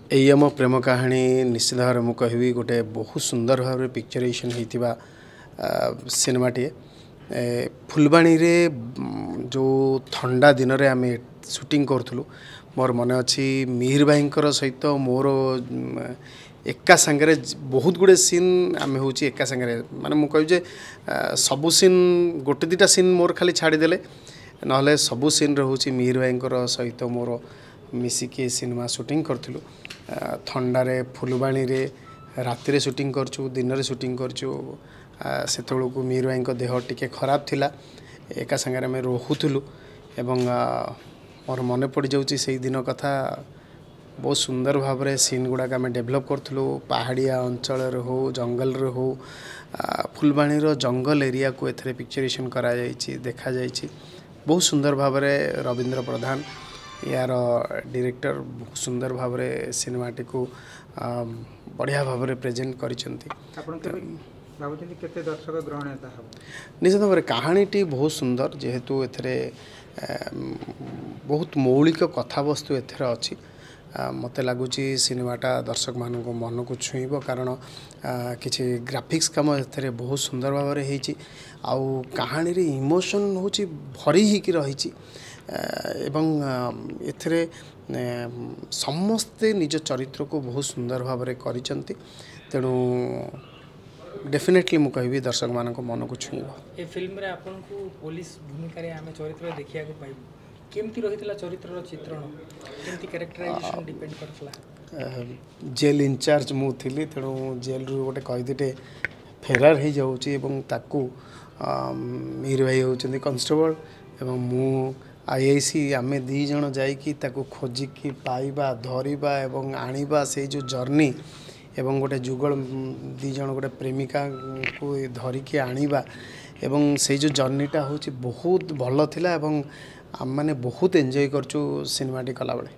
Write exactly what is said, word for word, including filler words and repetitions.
ଏଇ ଆମ ପ୍ରେମ କାହାଣୀ ନିଶ୍ଚିତ ଭାବରେ ମୁଁ କହିବି ଗୋଟେ ବହୁତ ସୁନ୍ଦର ଭାବରେ ପିକ୍ଚରାଇଜେସନ୍ ହେଇଥିବା ସିନେମାଟିଏ। ଏ, ଫୁଲବାଣୀରେ ଯେଉଁ ଥଣ୍ଡା ଦିନରେ ଆମେ ସୁଟିଂ କରୁଥିଲୁ, ମୋର ମନେ ଅଛି ମିହିର ଭାଇଙ୍କର ସହିତ ମୋର ଏକା ସାଙ୍ଗରେ ବହୁତ ଗୁଡ଼ିଏ ସିନ୍ ଆମେ ହେଉଛି ଏକା ସାଙ୍ଗରେ, ମାନେ ମୁଁ କହିବି ଯେ ସବୁ ସିନ୍, ଗୋଟେ ଦୁଇଟା ସିନ୍ ମୋର ଖାଲି ଛାଡ଼ିଦେଲେ, ନହେଲେ ସବୁ ସିନ୍ରେ ହେଉଛି ମିହିର ଭାଇଙ୍କର ସହିତ ମୋର ମିଶିକି ସିନେମା ସୁଟିଂ କରିଥିଲୁ। ଥଣ୍ଡାରେ ଫୁଲବାଣୀରେ ରାତିରେ ସୁଟିଂ କରିଛୁ, ଦିନରେ ସୁଟିଂ କରିଛୁ। ସେତେବେଳକୁ ମିହିର ଭାଇଙ୍କ ଦେହ ଟିକେ ଖରାପ ଥିଲା, ଏକା ସାଙ୍ଗରେ ଆମେ ରହୁଥିଲୁ ଏବଂ ମୋର ମନେ ପଡ଼ିଯାଉଛି ସେଇ ଦିନ କଥା। ବହୁତ ସୁନ୍ଦର ଭାବରେ ସିନ୍ ଗୁଡ଼ାକ ଆମେ ଡେଭଲପ୍ କରୁଥିଲୁ, ପାହାଡ଼ିଆ ଅଞ୍ଚଳରେ ହଉ, ଜଙ୍ଗଲରେ ହଉ। ଫୁଲବାଣୀର ଜଙ୍ଗଲ ଏରିଆକୁ ଏଥିରେ ପିକ୍ଚରାଇଜେସନ୍ କରାଯାଇଛି, ଦେଖାଯାଇଛି ବହୁତ ସୁନ୍ଦର ଭାବରେ। ରବୀନ୍ଦ୍ର ପ୍ରଧାନ ୟାର ଡିରେକ୍ଟର ବହୁତ ସୁନ୍ଦର ଭାବରେ ସିନେମାଟିକୁ ବଢ଼ିଆ ଭାବରେ ପ୍ରେଜେଣ୍ଟ କରିଛନ୍ତି। ଆପଣ କେବେ ଭାବୁଛନ୍ତି କେତେ ଦର୍ଶକ ଗ୍ରହଣୀୟତା ହେବ? ନିଶ୍ଚିତ ଭାବରେ କାହାଣୀଟି ବହୁତ ସୁନ୍ଦର, ଯେହେତୁ ଏଥିରେ ବହୁତ ମୌଳିକ କଥାବସ୍ତୁ ଏଥିରେ ଅଛି। ମୋତେ ଲାଗୁଛି ସିନେମାଟା ଦର୍ଶକମାନଙ୍କ ମନକୁ ଛୁଇଁବ, କାରଣ କିଛି ଗ୍ରାଫିକ୍ସ କାମ ଏଥିରେ ବହୁତ ସୁନ୍ଦର ଭାବରେ ହେଇଛି ଆଉ କାହାଣୀରେ ଇମୋସନ୍ ହେଉଛି ଭରି ହେଇକି ରହିଛି ଏବଂ ଏଥିରେ ସମସ୍ତେ ନିଜ ଚରିତ୍ରକୁ ବହୁତ ସୁନ୍ଦର ଭାବରେ କରିଛନ୍ତି। ତେଣୁ ଡେଫିନେଟଲି ମୁଁ କହିବି ଦର୍ଶକମାନଙ୍କ ମନକୁ ଛୁଇଁବ। ଏ ଫିଲ୍ମରେ ଆପଣଙ୍କୁ ପୋଲିସ ଭୂମିକାରେ ଆମେ ଚରିତ୍ର ଦେଖିବାକୁ ପାଇବୁ, କେମିତି ରହିଥିଲା ଚରିତ୍ରର ଚିତ୍ରଣ, କେମିତି କ୍ୟାରେକ୍ଟରାଇଜେସନ୍ ଡିପେଣ୍ଡ କରିଥିଲା? ଜେଲ୍ ଇନଚାର୍ଜ ମୁଁ ଥିଲି, ତେଣୁ ଜେଲ୍ରୁ ଗୋଟେ କଏଦୀଟେ ଫେରାର ହେଇଯାଉଛି ଏବଂ ତାକୁ ମିହିର ଭାଇ ହେଉଛନ୍ତି କନଷ୍ଟେବଳ ଏବଂ ମୁଁ I I C, ଆମେ ଦୁଇ ଜଣ ଯାଇକି ତାକୁ ଖୋଜିକି ପାଇବା, ଧରିବା ଏବଂ ଆଣିବା, ସେଇ ଯେଉଁ ଜର୍ଣ୍ଣି ଏବଂ ଗୋଟେ ଯୁଗଳ ଦୁଇ ଜଣ ଗୋଟେ ପ୍ରେମିକାଙ୍କୁ ଧରିକି ଆଣିବା ଏବଂ ସେଇ ଯେଉଁ ଜର୍ଣ୍ଣିଟା ହେଉଛି ବହୁତ ଭଲ ଥିଲା ଏବଂ ଆମେମାନେ ବହୁତ ଏନ୍ଜୟ କରିଛୁ ସିନେମାଟି କଲାବେଳେ।